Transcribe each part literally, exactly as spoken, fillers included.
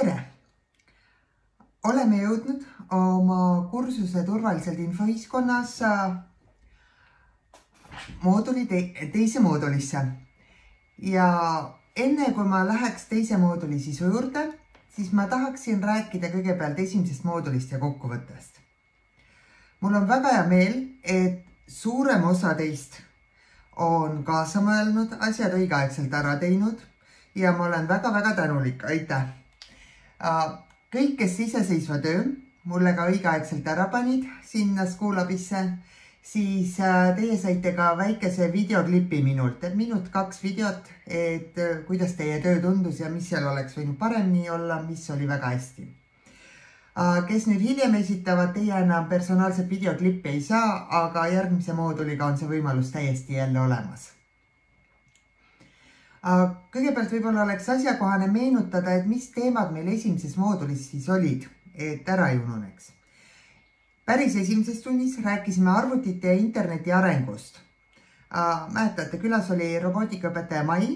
Tere! Oleme jõudnud oma kursuse turvaliselt infoühiskonnas mooduli te teise moodulisse. Ja enne kui ma läheks teise mooduli sisu juurde, siis ma tahaksin rääkida kõigepealt esimesest moodulist ja kokkuvõttest. Mul on väga hea meel, et suurem osa teist on kaasa mõelnud, asjad õigeaegselt ära teinud ja ma olen väga-väga tänulik. Aitäh! Kõik, kes iseseisva töö mulle ka õigeaegselt ära panid sinna Schoolabisse, siis teie saite ka väikese videoklipi minult, minut kaks videot, et kuidas teie töö tundus ja mis seal oleks võinud paremini olla, mis oli väga hästi. Kes nüüd hiljem esitavad, teie enam personaalset videoklippi ei saa, aga järgmise mooduliga on see võimalus täiesti jälle olemas. Kõigepealt võib-olla oleks asjakohane meenutada, et mis teemad meil esimeses moodulis siis olid, et ära ei ununeks. Päris esimeses tunnis rääkisime arvutite ja interneti arengust. Mäletate, külas oli robootikaõpetaja Mai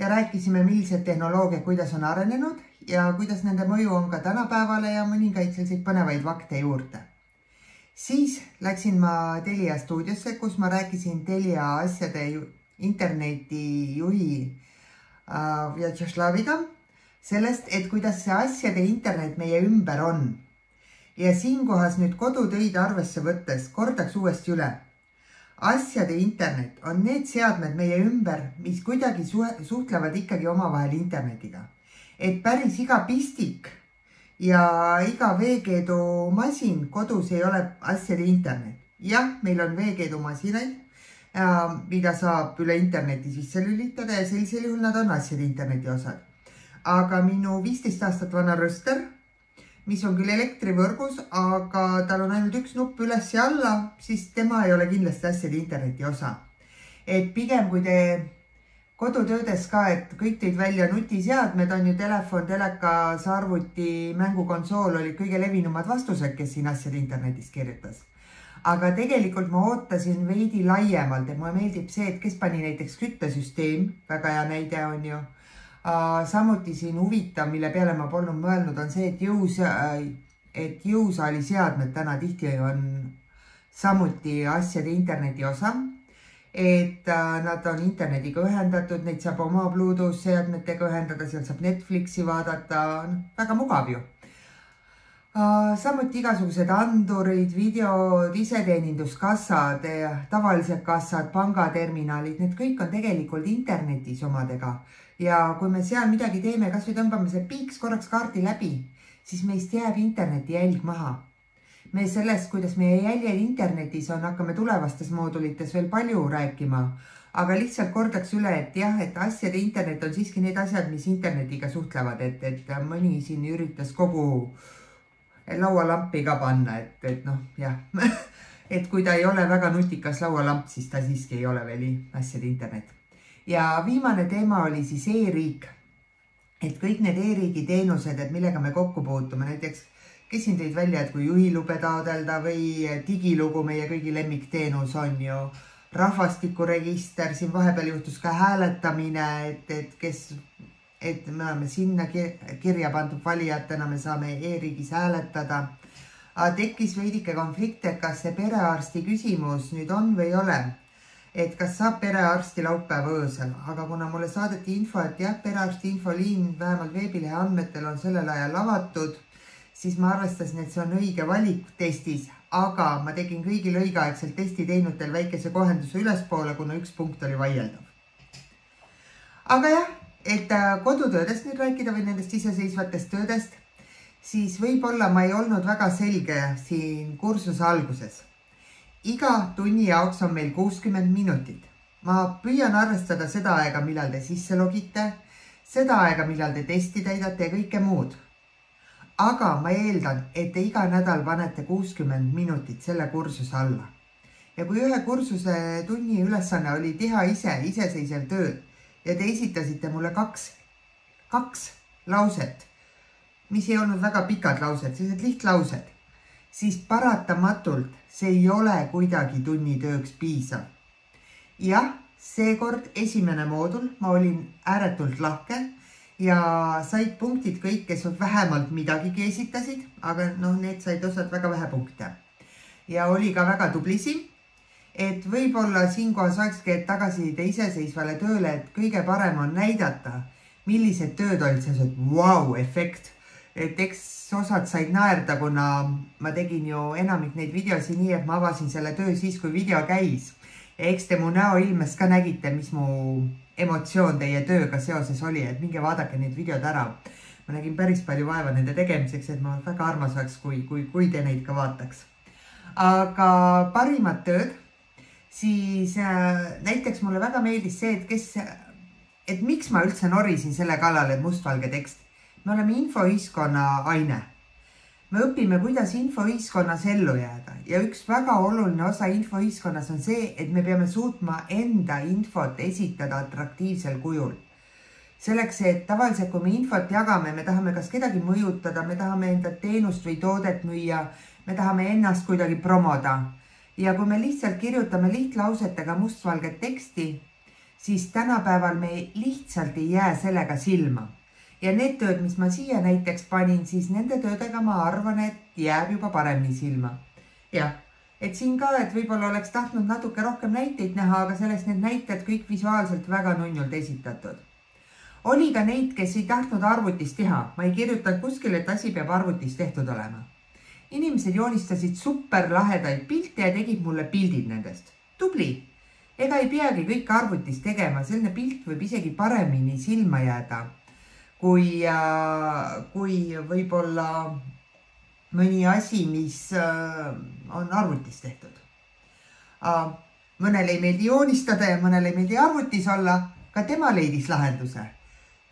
ja rääkisime, millised tehnoloogiad, kuidas on arenenud ja kuidas nende mõju on ka tänapäevale ja mõningaid selliseid põnevaid fakte juurde. Siis läksin ma Telia stuudiosse, kus ma rääkisin Telia asjade interneti juhi Vjatšeslaviga sellest, et kuidas see asjade internet meie ümber on. Ja siinkohas nüüd kodutöid arvesse võttes kordaks uuesti üle. Asjade internet on need seadmed meie ümber, mis kuidagi suhtlevad ikkagi omavahel internetiga. Et päris iga pistik ja iga veekeedu masin kodus ei ole asjade internet. Jah, meil on veekeedu masinaid, mida saab üle interneti sisse lülitada ja sellisel juhul nad on asjade interneti osad. Aga minu viisteist aastat vana röster, mis on küll elektrivõrgus, aga tal on ainult üks nupp üles ja alla, siis tema ei ole kindlasti asjade interneti osa. Et pigem kui te kodutöödes ka, et kõik tõid välja nutiseadmed, on ju telefon, telekas, arvuti, mängukonsool oli kõige levinumad vastused, kes siin asjade internetis kirjutas. Aga tegelikult ma ootasin veidi laiemalt, et mulle meeldib see, et kes pani näiteks küttesüsteem, väga hea näide on ju. Samuti siin huvitav, mille peale ma polnud mõelnud, on see, et, jõus, et jõusaali seadmed täna tihti on samuti asjade interneti osa. Et nad on internetiga ühendatud, neid saab oma Bluetooth seadmetega ühendada, seal saab Netflixi vaadata, väga mugav ju. Samuti igasugused andurid, videod, iseteeninduskassad, tavalised kassad, pangaterminalid, need kõik on tegelikult internetis omadega. Ja kui me seal midagi teeme, kas või tõmbame see piiks korraks kaardi läbi, siis meist jääb interneti jälg maha. Me sellest, kuidas meie jäljed internetis on, hakkame tulevastes moodulites veel palju rääkima. Aga lihtsalt kordaks üle, et jah, et asjade internet on siiski need asjad, mis internetiga suhtlevad, et, et mõni siin üritas kogu laualampi ka panna, et, et noh, jah, et kui ta ei ole väga nutikas laualamp, siis ta siiski ei ole veel asjade internet. Ja viimane teema oli siis e-riik, et kõik need e-riigi teenused, et millega me kokku puutume, näiteks kes siin tõid välja, et kui juhilube taodelda või digilugu meie kõigi lemmikteenus on ju, rahvastikuregister, siin vahepeal juhtus ka hääletamine, et, et kes et me oleme sinna kirja pandud valijatena, me saame e-riigis hääletada. Tekkis veidike konflikt, et kas see perearsti küsimus nüüd on või ei ole, et kas saab perearsti laupäeva öösel, aga kuna mulle saadeti info, et jah, perearsti infoliin vähemalt veebilehe andmetel on sellel ajal avatud, siis ma arvestasin, et see on õige valik testis, aga ma tegin kõigil õigeaegselt testi teinutel väikese kohenduse ülespoole, kuna üks punkt oli vaieldav. Aga jah, et kodutöödest nüüd rääkida või nendest iseseisvatest töödest, siis võib-olla ma ei olnud väga selge siin kursuse alguses. Iga tunni jaoks on meil kuuskümmend minutit. Ma püüan arvestada seda aega, millal te sisse logite, seda aega, millal te testi täidate ja kõike muud. Aga ma eeldan, et te iga nädal panete kuuskümmend minutit selle kursuse alla. Ja kui ühe kursuse tunni ülesanne oli teha ise, iseseisev töö, ja te esitasite mulle kaks, kaks lauset, mis ei olnud väga pikad laused, sellised lihtlaused, siis paratamatult see ei ole kuidagi tunnitööks piisav. Jah, seekord esimene moodul, ma olin ääretult lahke ja said punktid kõik, kes vähemalt midagigi esitasid, aga noh, need said osad väga vähe punkte. Ja oli ka väga tublisi, et võib-olla siinkohas olekski tagasiside iseseisvale tööle, et kõige parem on näidata, millised tööd olid sellised wow-efekt. Et eks osad said naerda, kuna ma tegin ju enamik neid videosi nii, et ma avasin selle töö siis, kui video käis. Ja eks te mu näo ilmes ka nägite, mis mu emotsioon teie tööga seoses oli, et minge vaadake need videod ära. Ma nägin päris palju vaeva nende tegemiseks, et ma väga armas oleks, kui, kui, kui te neid ka vaataks. Aga parimad tööd, siis äh, näiteks mulle väga meeldis see, et kes, et miks ma üldse norisin selle kallal, et mustvalge tekst. Me oleme infoühiskonna aine. Me õpime, kuidas infoühiskonnas ellu jääda ja üks väga oluline osa infoühiskonnas on see, et me peame suutma enda infot esitada atraktiivsel kujul. Selleks, et tavaliselt, kui me infot jagame, me tahame kas kedagi mõjutada, me tahame enda teenust või toodet müüa, me tahame ennast kuidagi promoda. Ja kui me lihtsalt kirjutame lihtlausetega mustvalget teksti, siis tänapäeval me lihtsalt ei jää sellega silma. Ja need tööd, mis ma siia näiteks panin, siis nende töödega ma arvan, et jääb juba paremini silma. Jah, et siin ka, et võib-olla oleks tahtnud natuke rohkem näiteid näha, aga sellest need näited kõik visuaalselt väga nunnult esitatud. Oli ka neid, kes ei tahtnud arvutis teha. Ma ei kirjutanud kuskil, et asi peab arvutis tehtud olema. Inimesed joonistasid super lahedaid pilte ja tegid mulle pildid nendest. Tubli! Ega ei peagi kõik arvutis tegema, selline pilt võib isegi paremini silma jääda. Kui, kui võib-olla mõni asi, mis on arvutis tehtud. Mõnel ei meeldi joonistada ja mõnel ei meeldi arvutis olla, ka tema leidis lahenduse.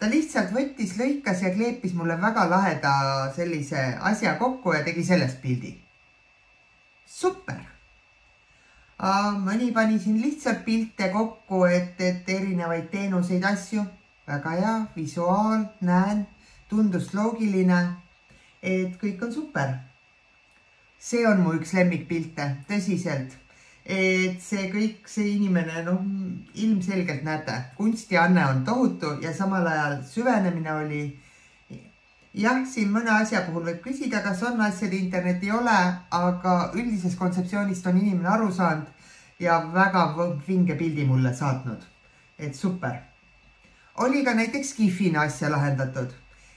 Ta lihtsalt võttis, lõikas ja kleepis mulle väga laheda sellise asja kokku ja tegi sellest pildi. Super! Mõni pani siin lihtsalt pilte kokku, et, et erinevaid teenuseid asju. Väga hea, visuaal, näen, tundus loogiline, et kõik on super. See on mu üks lemmikpilte, tõsiselt. Et see kõik, see inimene, noh, ilmselgelt näete, kunstianne on tohutu ja samal ajal süvenemine oli. Jah, siin mõne asja puhul võib küsida, kas on asjad internet ei ole, aga üldises kontseptsioonist on inimene aru saanud ja väga vinge pildi mulle saatnud. Et super. Oli ka näiteks Gifina asja lahendatud.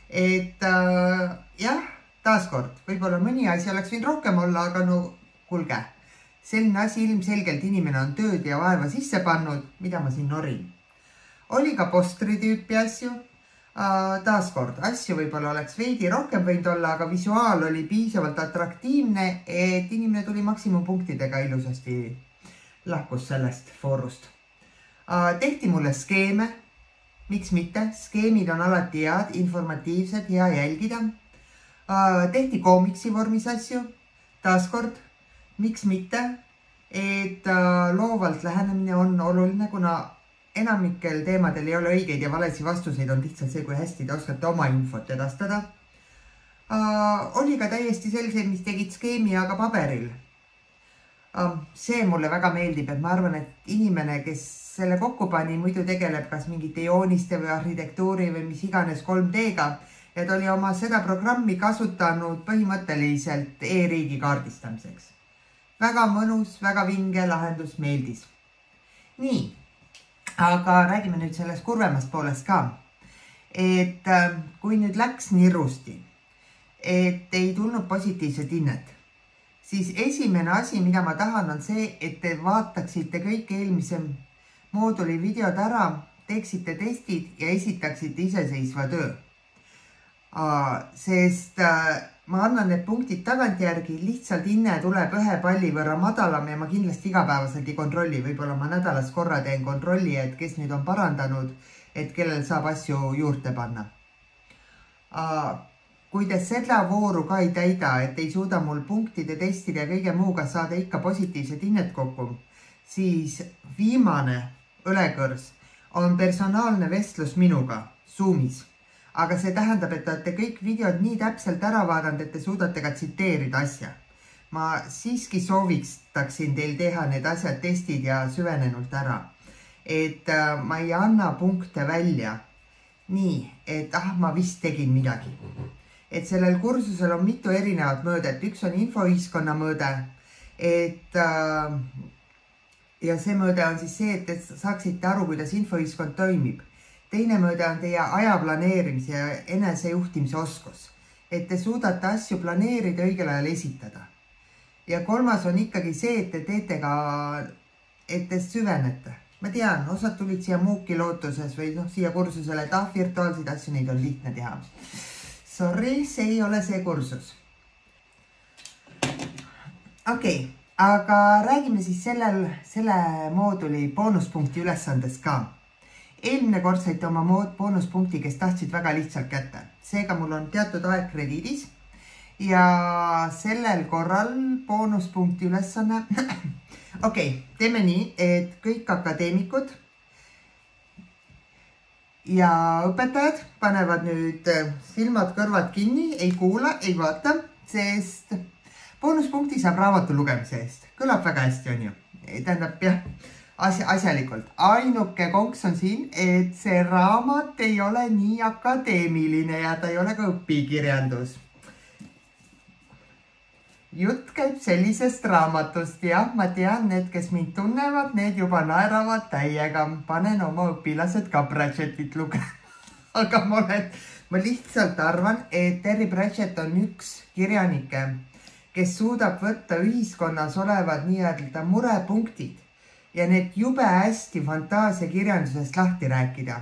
Et äh, jah, taaskord, võib-olla mõni asi oleks võinud rohkem olla, aga no kulge. Selline asi ilmselgelt inimene on tööd ja vaeva sisse pannud, mida ma siin norin. Oli ka postri tüüpi asju. Äh, taaskord, asju võib-olla oleks veidi rohkem võinud olla, aga visuaal oli piisavalt atraktiivne, et inimene tuli maksimumpunktidega ilusasti lahkus sellest foorust. Äh, tehti mulle skeeme. Miks mitte? Skeemid on alati head, informatiivsed, hea jälgida. Tehti koomiksi vormis asju. Taaskord, miks mitte? Et loovalt lähenemine on oluline, kuna enamikel teemadel ei ole õigeid ja valesi vastuseid on lihtsalt see, kui hästi te oskate oma infot edastada. Oli ka täiesti selliseid, mis tegid skeemi, aga paberil. See mulle väga meeldib, et ma arvan, et inimene, kes selle kokku pani, muidu tegeleb kas mingite jooniste või arhitektuuri või mis iganes kolm D-ga, et oli oma seda programmi kasutanud põhimõtteliselt e-riigi kaardistamiseks. Väga mõnus, väga vinge lahendus meeldis. Nii, aga räägime nüüd sellest kurvemast poolest ka. Et kui nüüd läks nirusti, et ei tulnud positiivset hinnet, siis esimene asi, mida ma tahan, on see, et te vaataksite kõik eelmise mooduli videod ära, teeksite testid ja esitaksite iseseisva töö. Sest ma annan need punktid tagantjärgi, lihtsalt hinne tuleb ühe palli võrra madalam ja ma kindlasti igapäevaselt ei kontrolli. Võib-olla ma nädalas korra teen kontrolli, et kes nüüd on parandanud, et kellel saab asju juurde panna. Kui te seda vooru ka ei täida, et ei suuda mul punktide, testide ja kõige muuga saada ikka positiivset hinnet kokku, siis viimane õlekõrs on personaalne vestlus minuga Zoomis. Aga see tähendab, et te olete kõik videod nii täpselt ära vaadanud, et te suudate ka tsiteerida asja. Ma siiski soovitaksin teil teha need asjad, testid ja süvenenult ära. Et ma ei anna punkte välja nii, et ah, ma vist tegin midagi. Et sellel kursusel on mitu erinevat mõõdet. Üks on infoühiskonna mõõde, et äh, ja see mõõde on siis see, et te saaksite aru, kuidas infoühiskond toimib. Teine mõõde on teie aja planeerimise ja enesejuhtimise oskus, et te suudate asju planeerida, õigel ajal esitada. Ja kolmas on ikkagi see, et te teete ka, et te süvenete. Ma tean, osad tulid siia muuki lootuses või noh, siia kursusele, et ah, virtuaalseid asju, neid on lihtne teha. Sorry, see ei ole see kursus. Okei, okay, aga räägime siis sellel, selle mooduli boonuspunkti ülesandes ka. Eelmine kord saite oma boonuspunkti, kes tahtsid väga lihtsalt kätte. Seega mul on teatud aeg krediidis ja sellel korral boonuspunkti ülesanne... Okei, okay, teeme nii, et kõik akadeemikud ja õpetajad panevad nüüd silmad kõrvad kinni, ei kuula, ei vaata, sest boonuspunkti saab raamatu lugemise eest. Kõlab väga hästi, on ju. Tähendab, jah, asja, asjalikult. Ainuke konks on siin, et see raamat ei ole nii akadeemiline ja ta ei ole ka õpikirjandus. Jutt käib sellisest raamatust. Jah, ma tean, need, kes mind tunnevad, need juba naeravad täiega. Panen oma õpilased ka Pratchettit lugema. Aga ma, olen, ma lihtsalt arvan, et Terry Pratchett on üks kirjanike, kes suudab võtta ühiskonnas olevad nii-öelda murepunktid ja need jube hästi fantaasiakirjandusest lahti rääkida.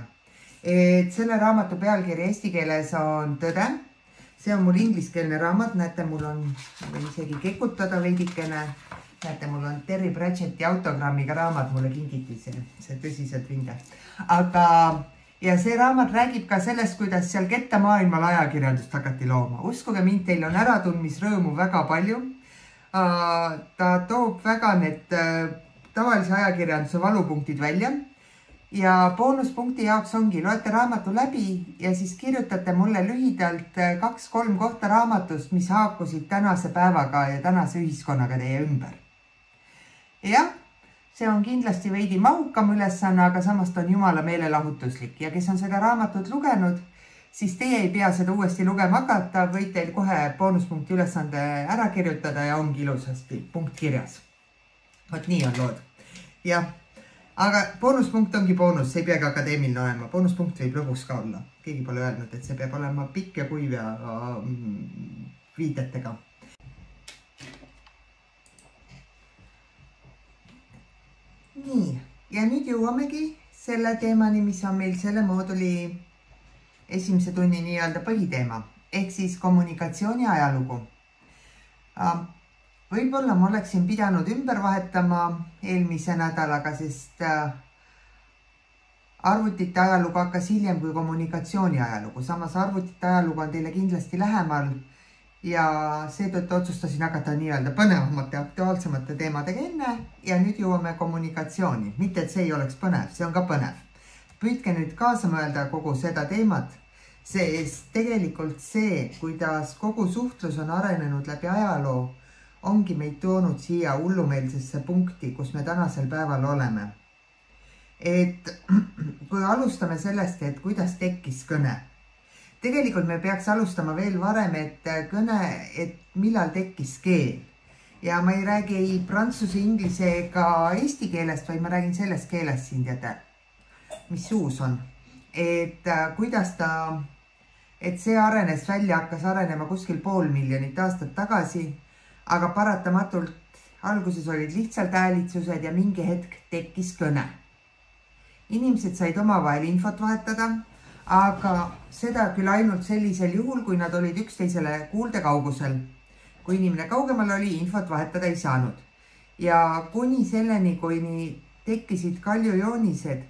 Et selle raamatu pealkiri eesti keeles on Tõde. See on mul ingliskeelne raamat, näete, mul on, või isegi kekutada veidikene, näete, mul on Terry Pratchetti autogrammiga raamat, mulle kingiti see, see tõsiselt vinge. Aga, ja see raamat räägib ka sellest, kuidas seal kettamaailmal ajakirjandust hakati looma. Uskuge mind, teil on äratunmisrõõmu väga palju. Ta toob väga need tavalise ajakirjanduse valupunktid välja. Ja boonuspunkti jaoks ongi, loete raamatu läbi ja siis kirjutate mulle lühidalt kaks-kolm kohta raamatust, mis haakusid tänase päevaga ja tänase ühiskonnaga teie ümber. Jah, see on kindlasti veidi mahukam ülesanne, aga samast on jumala meelelahutuslik. Ja kes on seda raamatut lugenud, siis teie ei pea seda uuesti lugema hakata, võid teil kohe boonuspunkti ülesande ära kirjutada ja ongi ilusasti punkt kirjas. Vot nii on lood. Jah. Aga boonuspunkt ongi boonus, see ei peagi akadeemiline olema. Boonuspunkt võib lõbus ka olla. Keegi pole öelnud, et see peab olema pikk ja kuiv ja viidetega. Nii, ja nüüd jõuamegi selle teemani, mis on meil selle mooduli esimese tunni nii-öelda põhiteema, ehk siis kommunikatsiooni ajalugu. Võib-olla ma oleksin pidanud ümber vahetama eelmise nädalaga, sest arvutite ajalugu hakkas hiljem kui kommunikatsiooni ajalugu. Samas arvutite ajalugu on teile kindlasti lähemal ja seetõttu otsustasin hakata nii-öelda põnevamate, aktuaalsemate teemadega enne ja nüüd jõuame kommunikatsiooni. Mitte, et see ei oleks põnev, see on ka põnev. Püüdke nüüd kaasa mõelda kogu seda teemat, sest tegelikult see, kuidas kogu suhtlus on arenenud läbi ajaloo, ongi meid toonud siia hullumeelsesse punkti, kus me tänasel päeval oleme. Et kui alustame sellest, et kuidas tekkis kõne. Tegelikult me peaks alustama veel varem, et kõne, et millal tekkis keel. Ja ma ei räägi ei prantsuse, inglise ega eesti keelest, vaid ma räägin sellest keelest siin, teate, mis suus on. Et kuidas ta, et see arenes välja, hakkas arenema kuskil pool miljonit aastat tagasi, aga paratamatult alguses olid lihtsalt häälitsused ja mingi hetk tekkis kõne. Inimesed said omavahel infot vahetada, aga seda küll ainult sellisel juhul, kui nad olid üksteisele kuulde kaugusel. Kui inimene kaugemal oli, infot vahetada ei saanud. Ja kuni selleni, kui tekkisid kaljujoonised,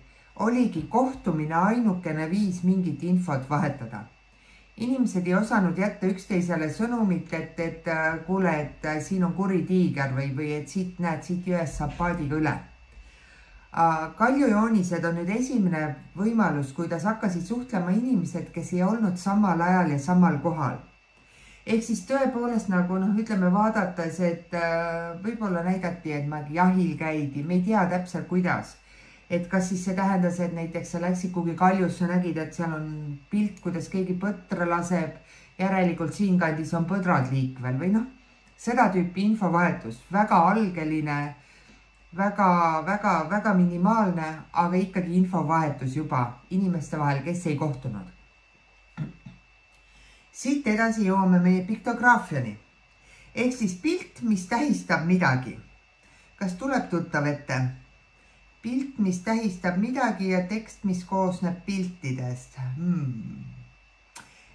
oligi kohtumine ainukene viis mingit infot vahetada. Inimesed ei osanud jätta üksteisele sõnumit, et, et kuule, et siin on kuri tiiger või, või et siit näed, siit jões saab paadiga üle. Kaljujoonised on nüüd esimene võimalus, kuidas hakkasid suhtlema inimesed, kes ei olnud samal ajal ja samal kohal. Ehk siis tõepoolest nagu noh, ütleme vaadates, et võib-olla näidati, et ma jahil käidi, me ei tea täpselt kuidas. et kas siis see tähendas, et näiteks sa läksid kuhugi kaljusse, nägid, et seal on pilt, kuidas keegi põtra laseb, järelikult siinkandis on põdrad liikvel või noh, seda tüüpi infovahetus, väga algeline, väga, väga, väga minimaalne, aga ikkagi infovahetus juba inimeste vahel, kes ei kohtunud. Siit edasi jõuame meie piktograafiani. Ehk siis pilt, mis tähistab midagi. Kas tuleb tuttav ette? Pilt, mis tähistab midagi ja tekst, mis koosneb piltidest. Hmm.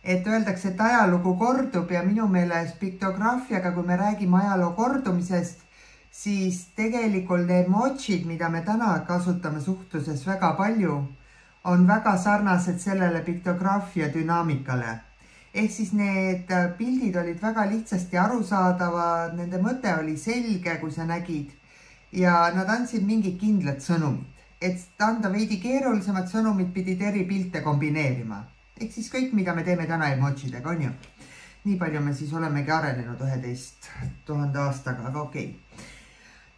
Et öeldakse, et ajalugu kordub ja minu meelest piktograafiaga, kui me räägime ajaloo kordumisest, siis tegelikult emotsid, mida me täna kasutame suhtluses väga palju, on väga sarnased sellele piktograafia dünaamikale. Ehk siis need pildid olid väga lihtsasti arusaadavad, nende mõte oli selge, kui sa nägid, ja nad andsid mingid kindlad sõnumid. Et anda veidi keerulisemad sõnumid pidid eri pilte kombineerima. Ehk siis kõik, mida me teeme täna emotsidega, on ju. Nii palju me siis olemegi arenenud üheteist tuhande aastaga, aga okei.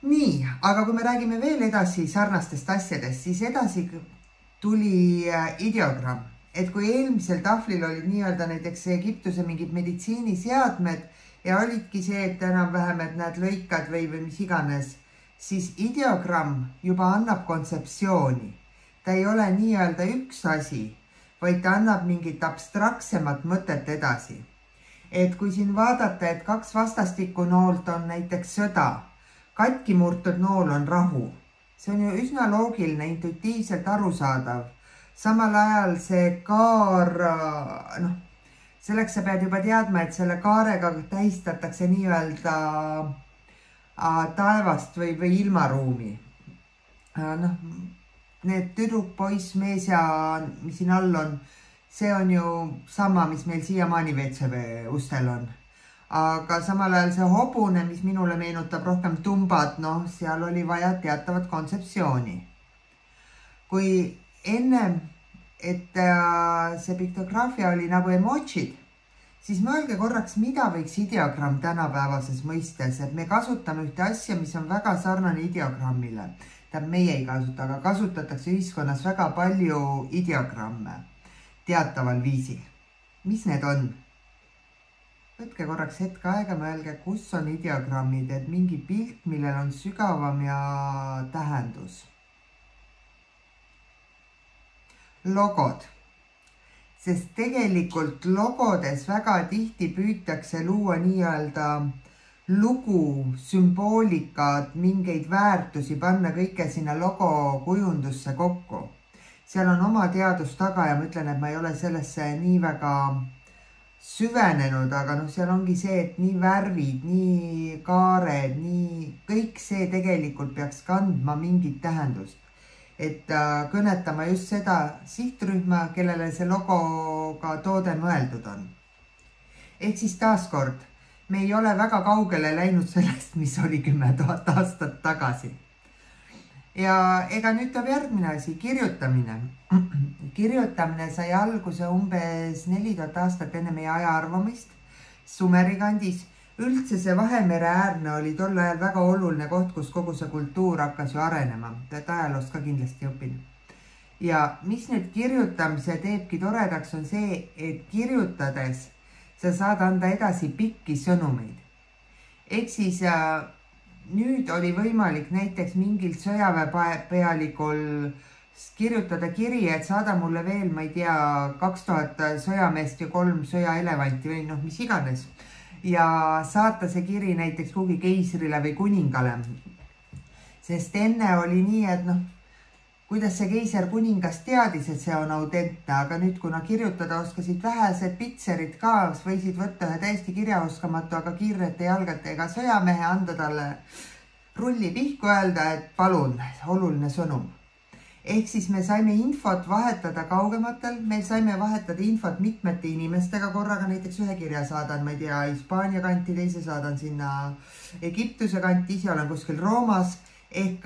Nii, aga kui me räägime veel edasi sarnastest asjadest, siis edasi tuli ideogramm. Et kui eelmisel tahvlil olid nii-öelda näiteks Egiptuse mingid meditsiiniseadmed ja olidki see, et enam-vähem, et näed lõikad või, või mis iganes, siis ideogramm juba annab kontseptsiooni. Ta ei ole nii-öelda üks asi, vaid ta annab mingit abstraktsemat mõtet edasi. Et kui siin vaadata, et kaks vastastikku noolt on näiteks sõda, katki murtud nool on rahu. See on ju üsna loogiline, intuitiivselt arusaadav. Samal ajal see kaar, noh, selleks sa pead juba teadma, et selle kaarega tähistatakse nii-öelda taevast või, või ilmaruumi. Noh, need tüdruk, poiss, mees ja mis siin all on, see on ju sama, mis meil siiamaani W C V ustel on. Aga samal ajal see hobune, mis minule meenutab rohkem tumbad, noh, seal oli vaja teatavat kontseptsiooni. Kui ennem, et see piktograafia oli nagu emotsid, siis mõelge korraks, mida võiks ideogramm tänapäevases mõistes, et me kasutame ühte asja, mis on väga sarnane ideogrammile. Tähendab, meie ei kasuta, aga kasutatakse ühiskonnas väga palju ideogramme teataval viisil. Mis need on? Võtke korraks hetk aega, mõelge, kus on ideogrammid, et mingi pilt, millel on sügavam ja tähendus. Logod, sest tegelikult logodes väga tihti püütakse luua nii-öelda lugu, sümboolikat, mingeid väärtusi, panna kõike sinna logo kujundusse kokku. Seal on oma teadus taga ja ma ütlen, et ma ei ole sellesse nii väga süvenenud, aga noh, seal ongi see, et nii värvid, nii kaared, nii kõik see tegelikult peaks kandma mingit tähendust. Et kõnetama just seda sihtrühma, kellele see logoga toode mõeldud on. Ehk siis taaskord, me ei ole väga kaugele läinud sellest, mis oli kümme tuhat aastat tagasi. Ja ega nüüd tuleb järgmine asi, kirjutamine. Kirjutamine sai alguse umbes neli tuhat aastat enne meie aja arvamist Sumeri kandis. Üldse see Vahemere äärne oli tol ajal väga oluline koht, kus kogu see kultuur hakkas ju arenema. Et ajaloost ka kindlasti õpin. Ja mis nüüd kirjutamise teebki toredaks on see, et kirjutades sa saad anda edasi pikki sõnumeid. Ehk siis nüüd oli võimalik näiteks mingil sõjaväepealikul kirjutada kiri, et saada mulle veel, ma ei tea, kaks tuhat sõjameest ja kolm sõjaelevanti või noh, mis iganes. Ja saata see kiri näiteks kuhugi keisrile või kuningale. Sest enne oli nii, et noh, kuidas see keiser kuningas teadis, et see on autentne, aga nüüd, kuna kirjutada oskasid vähesed pitserid ka, võisid võtta ühe täiesti kirjaoskamatu, aga kiirete jalgatega sõjamehe, anda talle rulli pihku öelda, et palun, oluline sõnum. Ehk siis me saime infot vahetada kaugematel, meil saime vahetada infot mitmete inimestega korraga, näiteks ühe kirja saadan, ma ei tea, Hispaania kanti, teise saadan sinna Egiptuse kanti, ise olen kuskil Roomas, ehk,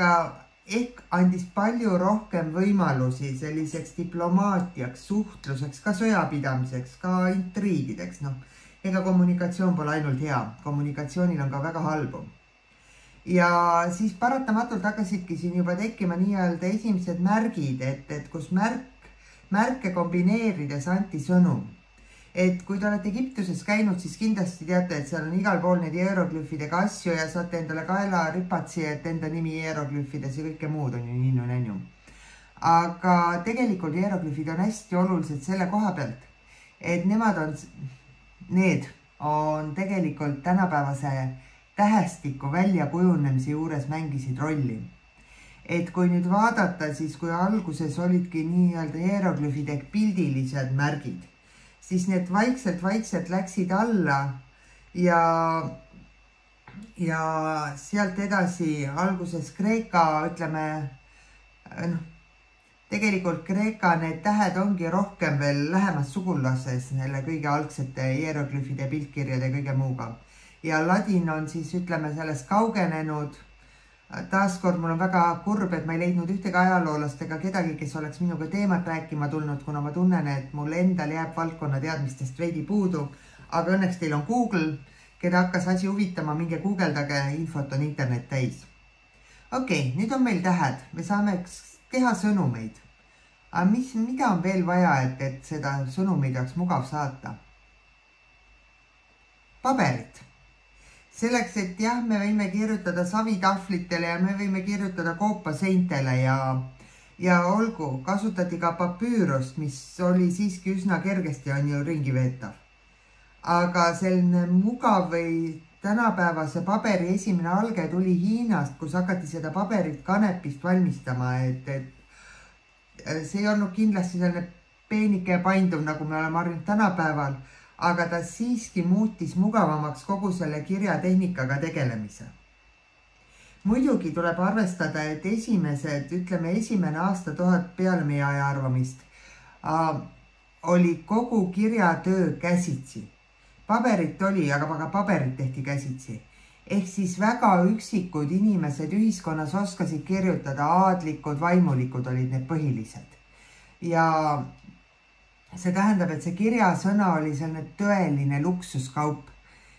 ehk andis palju rohkem võimalusi selliseks diplomaatiaks, suhtluseks, ka sõjapidamiseks, ka intriigideks, noh, ega kommunikatsioon pole ainult hea, kommunikatsioonil on ka väga halbu. ja siis paratamatult hakkasidki siin juba tekkima nii-öelda esimesed märgid, et, et kus märk, märke kombineerides anti sõnum. Et kui te olete Egiptuses käinud, siis kindlasti teate, et seal on igal pool neid hieroglüüfidega asju ja saate endale kaela ripatsi, et enda nimi hieroglüüfides ja kõike muud on ju ninnu-nännu. Aga tegelikult hieroglüüfid on hästi olulised selle koha pealt, et nemad on, need on tegelikult tänapäevase tähestiku väljakujunemise juures mängisid rolli. Et kui nüüd vaadata, siis kui alguses olidki nii-öelda hieroglüüfid ehk pildilised märgid, siis need vaikselt-vaikselt läksid alla ja, ja sealt edasi alguses Kreeka, ütleme, noh, tegelikult Kreeka need tähed ongi rohkem veel lähemas sugulases neile kõige algsete hieroglüüfide, piltkirjade ja kõige muuga. Ja ladin on siis, ütleme, sellest kaugenenud. Taaskord mul on väga kurb, et ma ei leidnud ühtegi ajaloolast ega kedagi, kes oleks minuga teemat rääkima tulnud, kuna ma tunnen, et mul endal jääb valdkonna teadmistest veidi puudu. Aga õnneks teil on Google, keda hakkas asi huvitama, minge guugeldage, infot on internet täis. Okei, nüüd on meil tähed, me saame teha sõnumeid. Aga mis, mida on veel vaja, et, et seda sõnumeid oleks mugav saata? Paberit. Selleks, et jah, me võime kirjutada savitahvlitele ja me võime kirjutada koopaseintele ja, ja olgu, kasutati ka papüürust, mis oli siiski üsna kergesti on ju ringi veetav. Aga selline mugav või tänapäevase paberi esimene alge tuli Hiinast, kus hakati seda paberit kanepist valmistama, et, et see ei olnud kindlasti selline peenike ja painduv, nagu me oleme harjunud tänapäeval, aga ta siiski muutis mugavamaks kogu selle kirjatehnikaga tegelemise. Muidugi tuleb arvestada, et esimesed, ütleme esimene aasta tuhat peale meie aja arvamist, äh, oli kogu kirjatöö käsitsi. Paberit oli, aga, aga paberit tehti käsitsi. Ehk siis väga üksikud inimesed ühiskonnas oskasid kirjutada, aadlikud, vaimulikud olid need põhilised. Ja see tähendab, et see kirjasõna oli selline tõeline luksuskaup,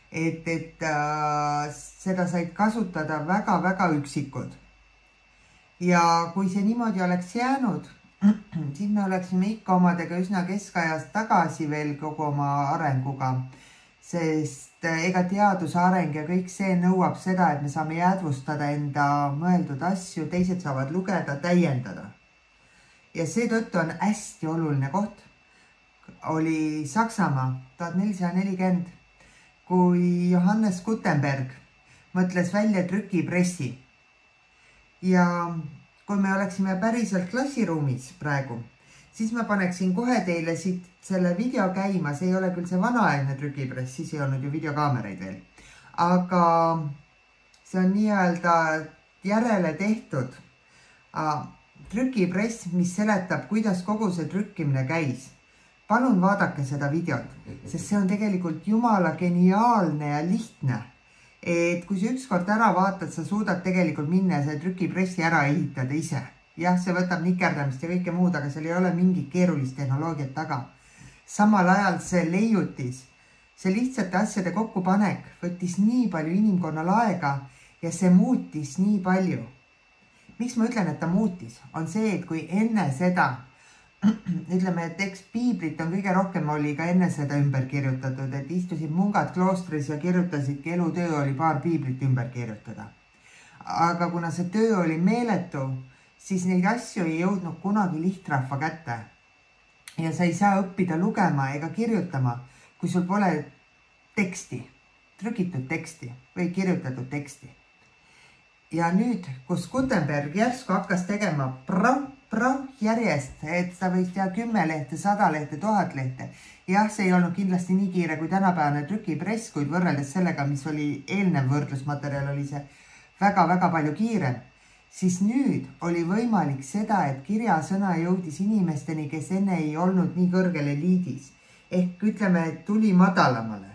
et, et äh, seda said kasutada väga-väga üksikud. Ja kui see niimoodi oleks jäänud, siis me oleksime ikka omadega üsna keskajast tagasi veel kogu oma arenguga, sest ega teaduse areng ja kõik see nõuab seda, et me saame jäädvustada enda mõeldud asju, teised saavad lugeda, täiendada. Ja seetõttu on hästi oluline koht. Oli Saksamaa tuhat nelisada nelikümmend, kui Johannes Gutenberg mõtles välja trükipressi. Ja kui me oleksime päriselt klassiruumis praegu, siis ma paneksin kohe teile siit selle video käima. See ei ole küll see vanaaegne trükipress, siis ei olnud ju videokaameraid veel. Aga see on nii-öelda järele tehtud trükipress, mis seletab, kuidas kogu see trükkimine käis. Palun vaadake seda videot, sest see on tegelikult jumala geniaalne ja lihtne. Et kui sa ükskord ära vaatad, sa suudad tegelikult minna ja see trükipressi ära ehitada ise. Jah, see võtab nikerdamist ja kõike muud, aga seal ei ole mingit keerulist tehnoloogiat taga. Samal ajal see leiutis, see lihtsate asjade kokkupanek võttis nii palju inimkonnal aega ja see muutis nii palju. Miks ma ütlen, et ta muutis? On see, et kui enne seda ütleme, et eks piiblit on kõige rohkem oli ka enne seda ümber kirjutatud, et istusid mungad kloostris ja kirjutasidki, elutöö oli paar piiblit ümber kirjutada. Aga kuna see töö oli meeletu, siis neid asju ei jõudnud kunagi lihtrahva kätte. Ja sa ei saa õppida lugema ega kirjutama, kui sul pole teksti, trükitud teksti või kirjutatud teksti. Ja nüüd, kus Gutenberg järsku hakkas tegema prau, prau järjest, et ta võis teha kümme lehte, sada lehte, tuhat lehte. Jah, see ei olnud kindlasti nii kiire kui tänapäevane trükipress, kuid võrreldes sellega, mis oli eelnev võrdlusmaterjal, oli see väga-väga palju kiirem. Siis nüüd oli võimalik seda, et kirjasõna jõudis inimesteni, kes enne ei olnud nii kõrgel eliidis. Ehk ütleme, et tuli madalamale.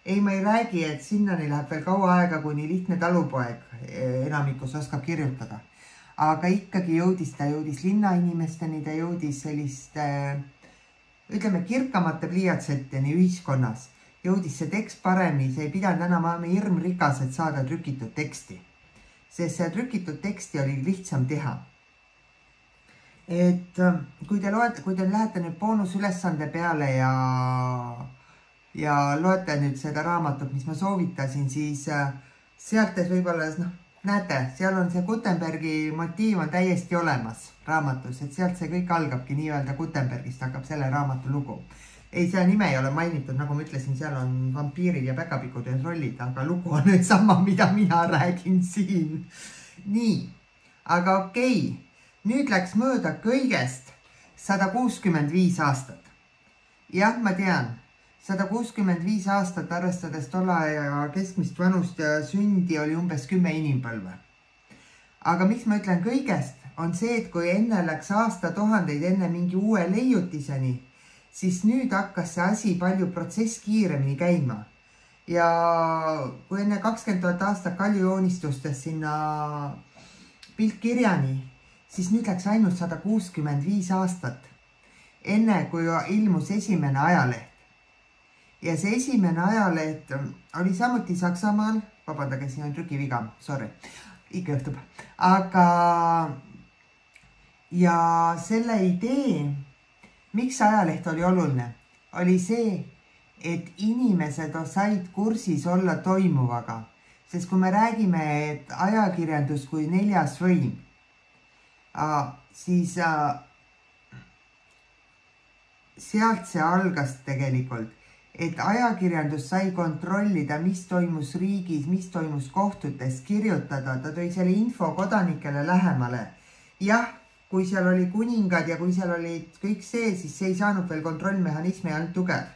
Ei, ma ei räägi, et sinnani läheb veel kaua aega, kuni lihtne talupoeg enamikus oskab kirjutada. Aga ikkagi jõudis ta, jõudis linnainimesteni, ta jõudis selliste, ütleme, kirkamate pliiatseteni ühiskonnas. Jõudis see tekst paremini, see ei pidanud enam olema hirmrikas, et saada trükitud teksti. sest see trükitud teksti oli lihtsam teha. Et kui te loete, kui te lähete nüüd boonusülesande peale ja, ja loete nüüd seda raamatut, mis ma soovitasin, siis sealt võib-olla, noh, näete, seal on see Gutenbergi motiiv on täiesti olemas raamatus, et sealt see kõik algabki nii-öelda Gutenbergist hakkab selle raamatu lugu. Ei, see nime ei ole mainitud, nagu ma ütlesin, seal on vampiirid ja päkapikud ja trollid, aga lugu on nüüd sama, mida mina räägin siin. Nii, aga okei, nüüd läks mööda kõigest sada kuuskümmend viis aastat. Jah, ma tean, sada kuuskümmend viis aastat arvestades tolle aja keskmist vanust ja sündi oli umbes kümme inimpõlve. Aga miks ma ütlen kõigest, on see, et kui enne läks aasta tuhandeid enne mingi uue leiutiseni, siis nüüd hakkas see asi palju protsess kiiremini käima. Ja kui enne kakskümmend tuhat aastat kaljujoonistustes sinna piltkirjani, siis nüüd läks ainult sada kuuskümmend viis aastat, enne kui ilmus esimene ajaleht. Ja see esimene ajaleht oli samuti Saksamaal, vabandage, siin on trükiviga, sorry, ikka juhtub. Aga ja selle idee, miks ajaleht oli oluline, oli see, et inimesed said kursis olla toimuvaga. Sest kui me räägime, et ajakirjandus kui neljas võim, siis sealt see algas tegelikult, et ajakirjandus sai kontrollida, mis toimus riigis, mis toimus kohtutes, kirjutada, ta tõi selle info kodanikele lähemale. Jah, kui seal oli kuningad ja kui seal oli kõik see, siis see ei saanud veel kontrollmehhanismi ainult tugev.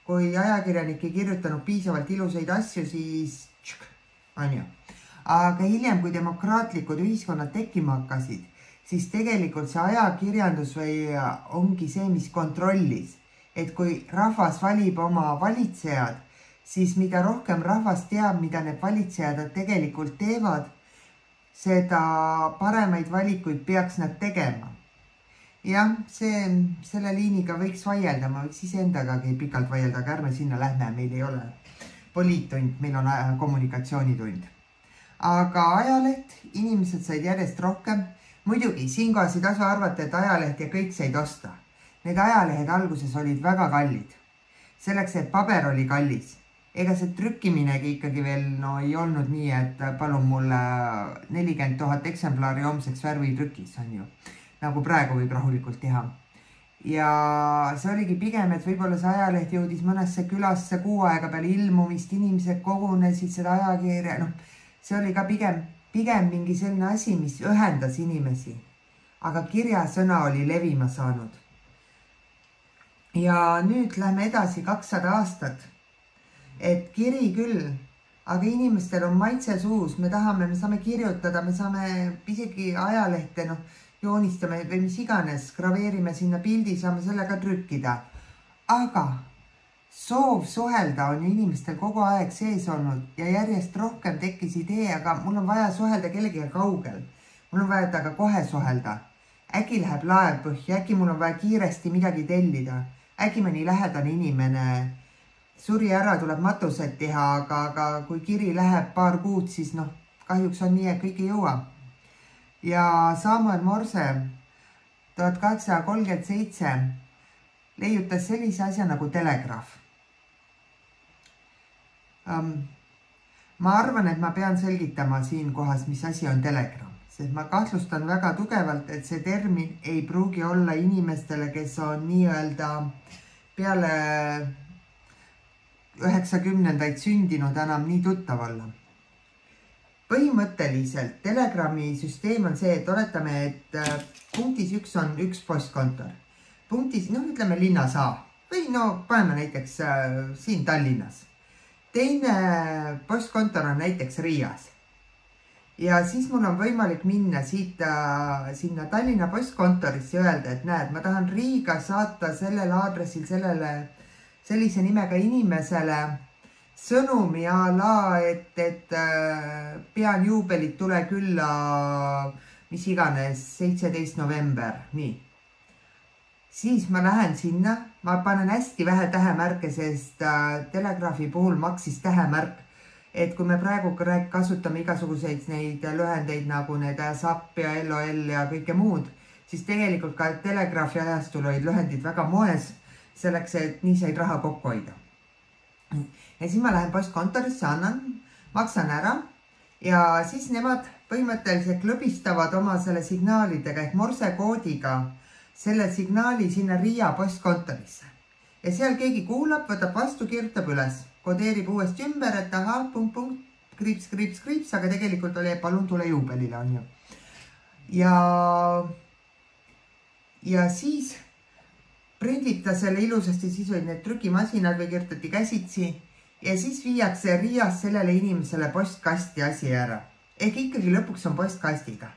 Kui ajakirjanik ei kirjutanud piisavalt ilusaid asju, siis tšk, on ju. Aga hiljem, kui demokraatlikud ühiskonnad tekkima hakkasid, siis tegelikult see ajakirjandus või ongi see, mis kontrollis. Et kui rahvas valib oma valitsejad, siis mida rohkem rahvas teab, mida need valitsejad tegelikult teevad, seda paremaid valikuid peaks nad tegema. Jah, see, selle liiniga võiks vaielda, ma võiks iseendagagi pikalt vaielda, aga ärme sinna lähme, meil ei ole poliittund, meil on kommunikatsioonitund. Aga ajaleht, inimesed said järjest rohkem. Muidugi, siinkohas ei tasu arvata, et ajaleht ja kõik said osta. Need ajalehed alguses olid väga kallid. Selleks, et paber oli kallis. Ega see trükkiminegi ikkagi veel no, ei olnud nii, et palun mulle nelikümmend tuhat eksemplari homseks värvitrükis, on ju. Nagu praegu võib rahulikult teha. Ja see oligi pigem, et võib-olla see ajaleht jõudis mõnesse külasse kuu aega peale ilmumist, inimesed kogunesid seda ajakirja. No, see oli ka pigem, pigem mingi selline asi, mis ühendas inimesi. Aga kirjasõna oli levima saanud. Ja nüüd lähme edasi kakssada aastat. Et kiri küll, aga inimestel on maitse suus, me tahame, me saame kirjutada, me saame isegi ajalehte, noh, joonistame või mis iganes, graveerime sinna pildi, saame selle ka trükkida. Aga soov suhelda on inimestel kogu aeg sees olnud ja järjest rohkem tekkis idee, aga mul on vaja suhelda kellegagi kaugel. Mul on vaja taga kohe suhelda. Äkki läheb laev põhja, äkki mul on vaja kiiresti midagi tellida. Äkki mõni lähedane inimene suri ära, tuleb matused teha, aga, aga kui kiri läheb paar kuud, siis noh, kahjuks on nii, et kõik ei jõua. Ja Samuel Morse tuhat kaheksasada kolmkümmend seitse leiutas sellise asja nagu telegraaf. Um, ma arvan, et ma pean selgitama siin kohas, mis asi on telegraaf, sest ma kahtlustan väga tugevalt, et see termin ei pruugi olla inimestele, kes on nii-öelda peale üheksakümnendaid sündinud enam nii tuttav olla. Põhimõtteliselt telegrami süsteem on see, et oletame, et punktis üks on üks postkontor. Punktis, noh, ütleme linnas A või no paneme näiteks äh, siin Tallinnas. Teine postkontor on näiteks Riias. Ja siis mul on võimalik minna siit äh, sinna Tallinna postkontorisse ja öelda, et näed, ma tahan Riiga saata sellel aadressil sellele sellise nimega inimesele sõnumi a la, et, et äh, pean juubelit, tule külla, mis iganes, seitseteist november, nii. Siis ma lähen sinna, ma panen hästi vähe tähemärke, sest äh, telegraafi puhul maksis tähemärk et kui me praegu kasutame igasuguseid neid lühendeid nagu need S A P ja L O L ja kõike muud, siis tegelikult ka telegraafi ajastul olid lühendid väga moes selleks, et nii said raha kokku hoida. Ja siis ma lähen postkontorisse, annan, maksan ära ja siis nemad põhimõtteliselt klõbistavad oma selle signaalidega ehk morsekoodiga selle signaali sinna Riia postkontorisse. Ja seal keegi kuulab, võtab vastu, kirjutab üles, kodeerib uuesti ümber, et aha, punkt, punkt, kriips, kriips, kriips, aga tegelikult oli, palun tule juubelile, on ju. Ja, ja siis prindib ta selle ilusasti, siis olid need trükimasinad või kirjutati käsitsi ja siis viiakse Riias sellele inimesele postkasti asi ära. Ehk ikkagi lõpuks on postkastiga.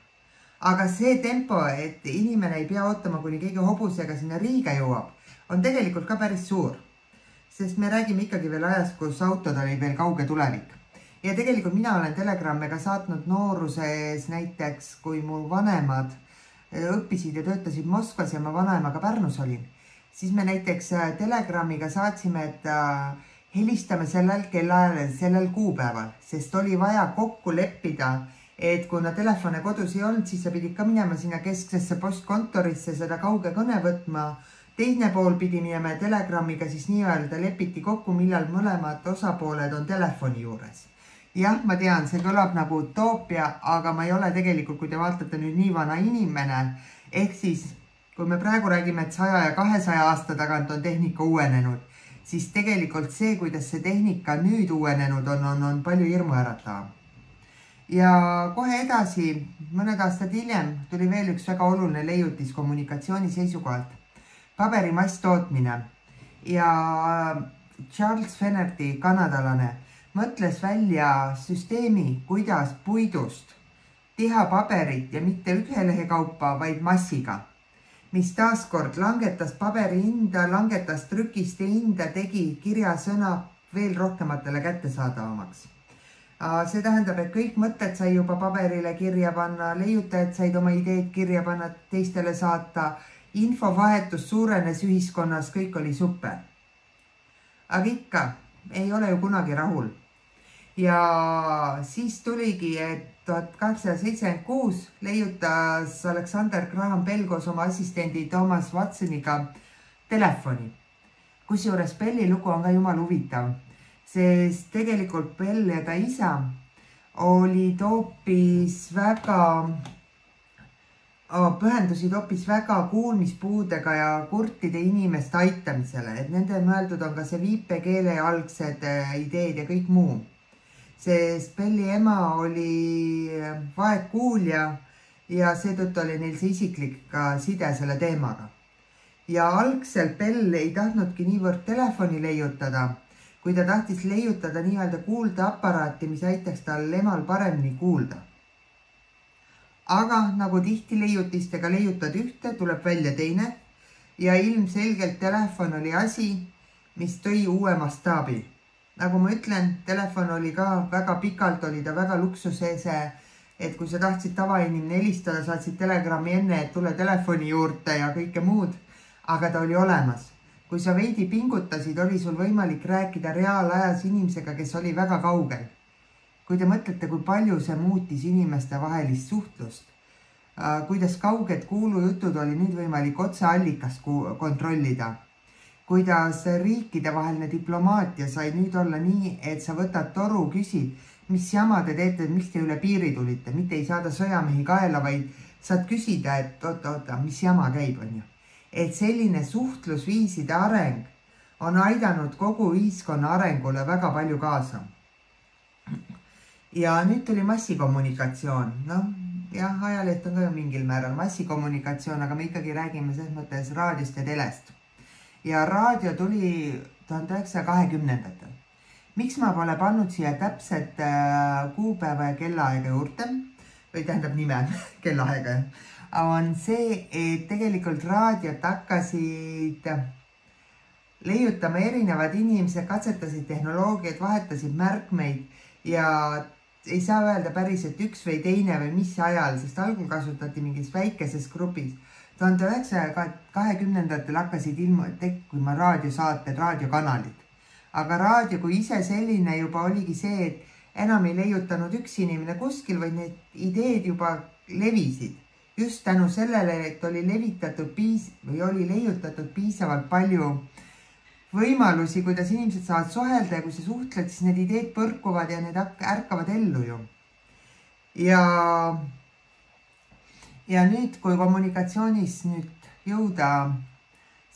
Aga see tempo, et inimene ei pea ootama, kuni keegi hobusega sinna Riiga jõuab, on tegelikult ka päris suur. Sest me räägime ikkagi veel ajast, kus autod oli veel kauge tulevik. Ja tegelikult mina olen telegrammiga saatnud nooruses näiteks, kui mu vanemad õppisid ja töötasid Moskvas ja ma vanaemaga Pärnus olin, siis me näiteks telegrammiga saatsime, et helistame sellel kellaajal, sellel kuupäeval, sest oli vaja kokku leppida, et kuna telefone kodus ei olnud, siis sa pidid ka minema sinna kesksesse postkontorisse seda kauge kõne võtma. Teine pool pidi minema telegrammiga, siis nii-öelda lepiti kokku, millal mõlemad osapooled on telefoni juures. Jah, ma tean, see kõlab nagu utoopia, aga ma ei ole tegelikult, kui te vaatate nüüd nii vana inimene, ehk siis, kui me praegu räägime, et saja ja kahesaja aasta tagant on tehnika uuenenud, siis tegelikult see, kuidas see tehnika nüüd uuenenud on, on, on palju hirmuäratav. Ja kohe edasi, mõned aastad hiljem, tuli veel üks väga oluline leiutis kommunikatsiooni seisukohalt. Paberimass tootmine ja Charles Fenerty, kanadalane, mõtles välja süsteemi, kuidas puidust teha paberit ja mitte ühe lehe kaupa, vaid massiga, mis taaskord langetas paberi hinda, langetas trükiste hinda, tegi kirjasõna veel rohkematele kättesaadavamaks. See tähendab, et kõik mõtted sai juba paberile kirja panna, leiutajad said oma ideed kirja panna, teistele saata, infovahetus suurenes ühiskonnas, kõik oli super. Aga ikka, ei ole ju kunagi rahul. Ja siis tuligi, et tuhat kaheksasada seitsekümmend kuus leiutas Alexander Graham Bell koos oma assistendi Thomas Watsoniga telefoni. Kusjuures Belli lugu on ka jumal huvitav, sest tegelikult Bell ja ta isa olid hoopis väga, pühendusid hoopis väga kuulmispuudega ja kurtide inimeste aitamisele, et nende mõeldud on ka see viipekeele algsed ideed ja kõik muu. Sest Belli ema oli vaegkuulja ja seetõttu oli neil see isiklik side selle teemaga. Ja algselt Bell ei tahtnudki niivõrd telefoni leiutada, kui ta tahtis leiutada nii-öelda kuuldeaparaati, mis aitaks tal emal paremini kuulda. Aga nagu tihti leiutistega leiutad ühte, tuleb välja teine ja ilmselgelt telefon oli asi, mis tõi uue mastaabi. Nagu ma ütlen, telefon oli ka väga pikalt, oli ta väga luksusese, et kui sa tahtsid tavainimene helistada, saatsid telegrammi enne, et tule telefoni juurde ja kõike muud, aga ta oli olemas. Kui sa veidi pingutasid, oli sul võimalik rääkida reaalajas inimesega, kes oli väga kaugel. Kui te mõtlete, kui palju see muutis inimeste vahelist suhtlust, kuidas kauged kuulujutud oli nüüd võimalik otse allikast kontrollida, kuidas riikide vaheline diplomaatia sai nüüd olla nii, et sa võtad toru, küsid, mis jama te teete, miks te üle piiri tulite, mitte ei saada sõjamehi kaela, vaid saad küsida, et oota, oota, mis jama käib, on ju. Et selline suhtlusviiside areng on aidanud kogu ühiskonna arengule väga palju kaasa. Ja nüüd tuli massikommunikatsioon. Noh, jah, ajaleht on ka mingil määral massikommunikatsioon, aga me ikkagi räägime selles mõttes raadiost ja telest. Ja raadio tuli tuhande üheksasaja kahekümnendatel. Miks ma pole pannud siia täpset kuupäeva ja kellaaega juurde, või tähendab nime kellaaega, on see, et tegelikult raadiot hakkasid leiutama erinevad inimesed, katsetasid tehnoloogiat, vahetasid märkmeid ja ei saa öelda päris, et üks või teine või mis ajal, sest algul kasutati mingis väikeses grupis. tuhande üheksasaja kahekümnendatel hakkasid ilma tekkima raadiosaated, raadiokanalid. Aga raadio kui ise selline juba oligi see, et enam ei leiutanud üks inimene kuskil, vaid need ideed juba levisid. Just tänu sellele, et oli levitatud piis või oli leiutatud piisavalt palju võimalusi, kuidas inimesed saavad suhelda ja kui sa suhtled, siis need ideed põrkuvad ja need ärkavad ellu ju. Ja, ja nüüd, kui kommunikatsioonis nüüd jõuda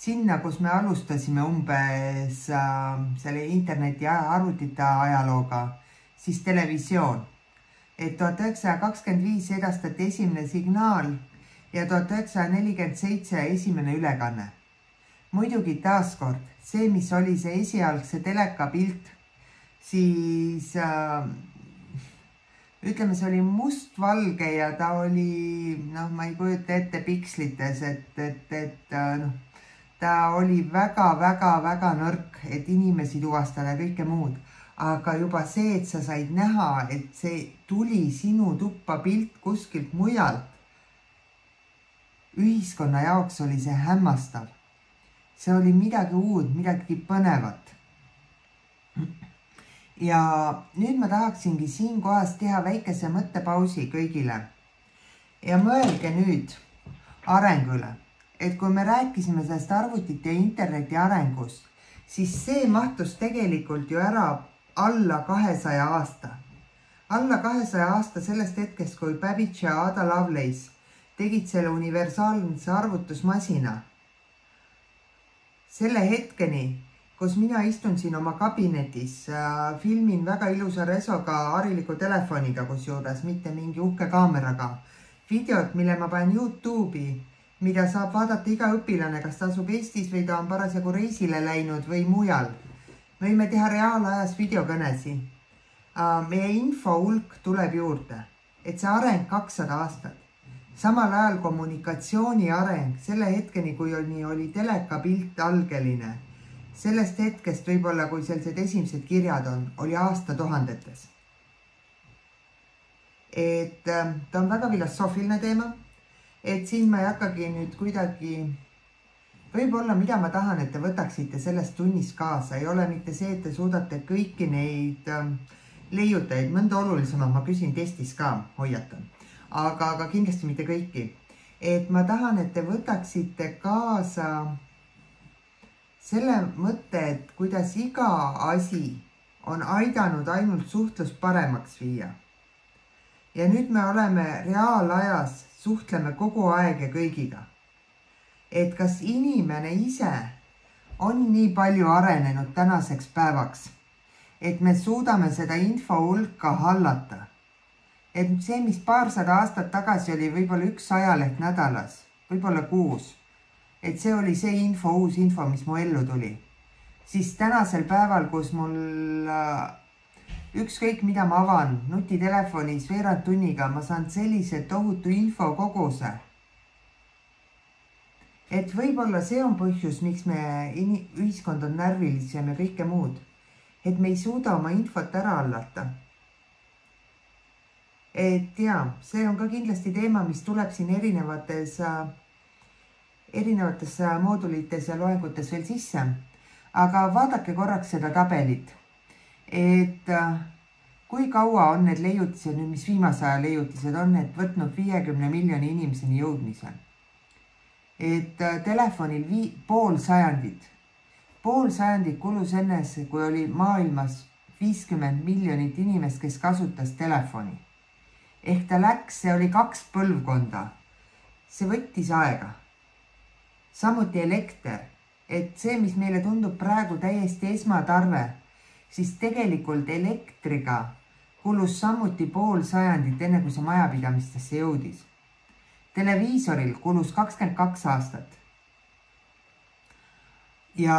sinna, kus me alustasime umbes äh, selle interneti ja arvutite ajalooga, siis televisioon. Et tuhat üheksasada kakskümmend viis edastati esimene signaal ja tuhat üheksasada nelikümmend seitse esimene ülekanne. Muidugi taaskord, see, mis oli see esialgse teleka pilt, siis äh, ütleme, see oli mustvalge ja ta oli, noh, ma ei kujuta ette pikslites, et, et, et noh, ta oli väga, väga, väga nõrk, et inimesi tuvastada ja kõike muud. Aga juba see, et sa said näha, et see tuli sinu tuppa pilt kuskilt mujalt, ühiskonna jaoks oli see hämmastav. See oli midagi uud, midagi põnevat. Ja nüüd ma tahaksingi siin kohas teha väikese mõttepausi kõigile. Ja mõelge nüüd arengule, et kui me rääkisime sellest arvutite ja interneti arengust, siis see mahtus tegelikult ju ära alla kahesaja aasta. Alla kahesaja aasta sellest hetkest, kui Babbage ja Ada Lovelace tegid selle universaalse arvutusmasina. Selle hetkeni, kus mina istun siin oma kabinetis, filmin väga ilusa resoga hariliku telefoniga, kus juures mitte mingi uhke kaameraga. Videot, mille ma panen YouTube'i, mida saab vaadata iga õpilane, kas ta asub Eestis või ta on parasjagu reisile läinud või mujal. Võime teha reaalajas videokõnesi. Meie info hulk tuleb juurde, et see areng kakssada aastat. Samal ajal kommunikatsiooni areng, selle hetkeni, kui oli, oli teleka pilt algeline, sellest hetkest võib-olla, kui sellised esimesed kirjad on, oli aasta tuhandetes. Et ta on väga filosoofiline teema, et siin ma ei hakkagi nüüd kuidagi, võib-olla mida ma tahan, et te võtaksite sellest tunnist kaasa, ei ole mitte see, et te suudate kõiki neid leiutajaid, mõnda olulisema ma küsin testis ka, hoiatan. Aga, aga kindlasti mitte kõiki. Et ma tahan, et te võtaksite kaasa selle mõtte, et kuidas iga asi on aidanud ainult suhtlust paremaks viia. Ja nüüd me oleme reaalajas, suhtleme kogu aeg ja kõigiga. Et kas inimene ise on nii palju arenenud tänaseks päevaks, et me suudame seda info hulka hallata. Et see, mis paarsada aastat tagasi oli võib-olla üks ajaleht nädalas, võib-olla kuus, et see oli see info, uus info, mis mu ellu tuli. Siis tänasel päeval, kus mul ükskõik mida ma avan nutitelefonis veerand tunniga, ma saan sellise tohutu info koguse. Et võib-olla see on põhjus, miks me ühiskond on närvilisem ja kõike muud. Et me ei suuda oma infot ära hallata. Et jaa, see on ka kindlasti teema, mis tuleb siin erinevates, erinevates moodulites ja loengutes veel sisse. Aga vaadake korraks seda tabelit, et kui kaua on need leiutised, mis viimase aja leiutised on, et võtnud viiekümne miljoni inimeseni jõudmise. Et telefonil vii, pool sajandit, pool sajandit kulus ennes, kui oli maailmas viiskümmend miljonit inimest, kes kasutas telefoni. Ehk ta läks, see oli kaks põlvkonda. See võttis aega. Samuti elekter, et see, mis meile tundub praegu täiesti esmatarve, siis tegelikult elektriga kulus samuti pool sajandit, enne kui see majapidamistesse jõudis. Televiisoril kulus kakskümmend kaks aastat. Ja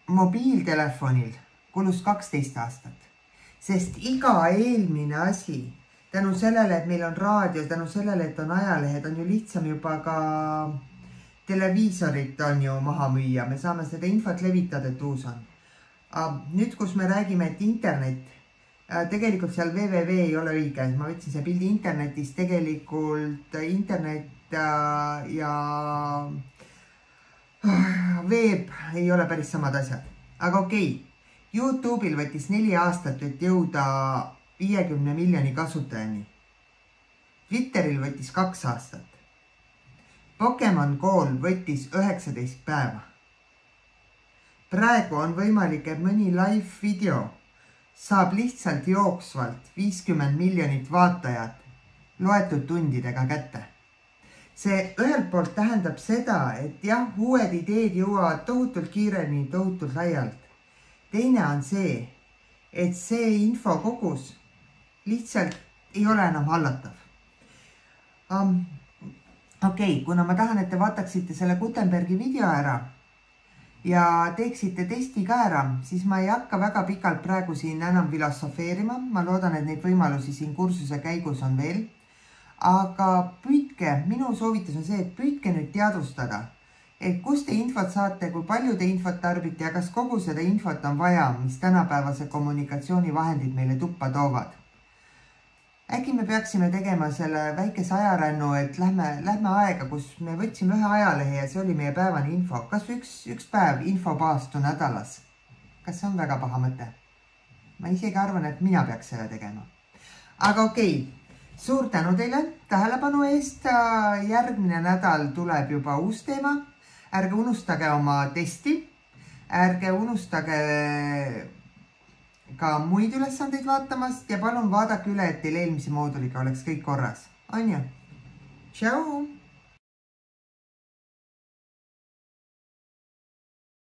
mobiiltelefonil kulus kaksteist aastat. Sest iga eelmine asi, tänu sellele, et meil on raadio, tänu sellele, et on ajalehed, on ju lihtsam juba ka televiisorit on ju maha müüa. Me saame seda infot levitada, et uus on. Nüüd, kus me räägime, et internet, tegelikult seal www ei ole õige. Ma võtsin see pildi internetis, tegelikult internet ja veeb ei ole päris samad asjad. Aga okei. YouTube'il võttis neli aastat, et jõuda viiekümne miljoni kasutajani. Twitteril võttis kaks aastat. Pokemon Go'l võttis üheksateist päeva. Praegu on võimalik, et mõni live video saab lihtsalt jooksvalt viiskümmend miljonit vaatajat loetud tundidega kätte. See ühelt poolt tähendab seda, et jah, uued ideed jõuavad tohutult kiireni, tohutult laialt. Teine on see, et see infokogus lihtsalt ei ole enam hallatav. Um, Okei, okay, kuna ma tahan, et te vaataksite selle Gutenbergi video ära ja teeksite testi ka ära, siis ma ei hakka väga pikalt praegu siin enam filosofeerima. Ma loodan, et neid võimalusi siin kursuse käigus on veel. Aga püüdke, minu soovitus on see, et püüdke nüüd teadvustada, et kus te infot saate, kui palju te infot tarbite ja kas kogu seda infot on vaja, mis tänapäevase kommunikatsioonivahendid meile tuppa toovad. Äkki me peaksime tegema selle väikese ajarännu, et lähme, lähme aega, kus me võtsime ühe ajalehe ja see oli meie päevane info. Kas üks, üks päev infopaastu nädalas? Kas see on väga paha mõte? Ma isegi arvan, et mina peaks selle tegema. Aga okei, suur tänu teile tähelepanu eest. Järgmine nädal tuleb juba uus teema. Ärge unustage oma testi. Ärge unustage ka muid ülesandeid vaatamast ja palun vaadake üle, et teil eelmise mooduliga oleks kõik korras. On ju? Tšau!